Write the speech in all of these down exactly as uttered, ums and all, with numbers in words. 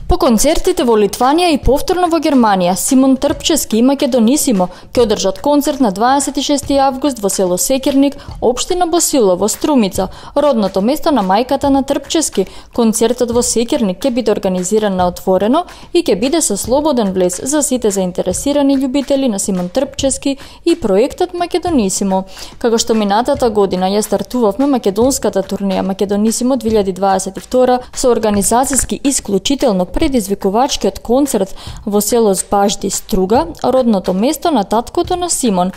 По концертите во Литванија и повторно во Германија, Симон Трпчевски и Македонисимо ќе одржат концерт на дваесет и шести август во село Секирник, општина Босило во Струмица, родното место на мајката на Трпчевски. Концертот во Секирник ќе биде организиран на отворено и ќе биде со слободен влез за сите заинтересирани љубители на Симон Трпчевски и проектот Македонисимо. Како што минатата година ја стартувавме македонската турнеја Македонисимо две илјади дваесет и втора со организацијски исклучително предизвикувачкиот концерт во село Збажди Струга, родното место на таткото на Симон,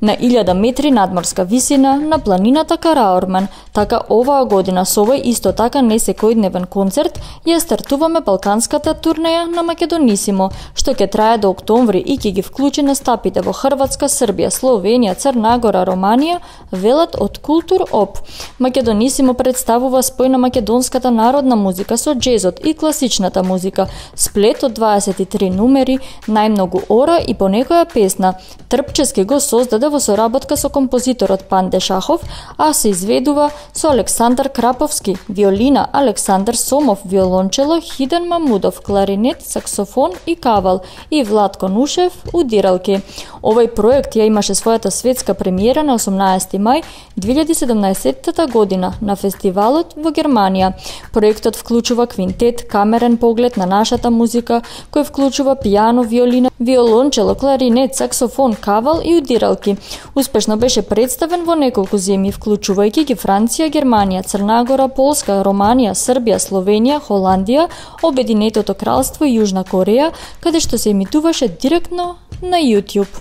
на илјада метри надморска висина на планината Караорман. Така оваа година со овој исто така несекојдневен концерт ја стартуваме балканската турнеја на Македонисимо, што ќе трае до октомври и ќе ги вклучи настапите во Хрватска, Србија, Словенија, Црна Гора, Романија, велат од Култур Оп. Македонисимо представува спој на македонската народна музика со джезот и класичната музика, сплет од дваесет и три numeri, најмногу ора и по некоја песна. Трпчевски го создаде во соработка со композиторот Панде Шахов, а се изведува со Александар Краповски, виолина, Александар Сомов, виолончело, Хиден Мамудов, кларинет, саксофон и кавал и Владко Нушев, удиралки. Овој проект ја имаше својата светска премиера на осумнаесети мај две илјади седумнаесетта година на фестивалот во Германија. Проектот вклучува квинтет, камерен поглед на нашата музика, кој вклучува пијано, виолина, виолончело, кларинет, саксофон, кавал и удиралки. Успешно беше представен во неколку земји, вклучувајќи ги Франција, Германија, Црна Гора, Полска, Романија, Србија, Словенија, Холандија, Обединетото кралство и Јужна Кореја, каде што се емитуваше директно на YouTube.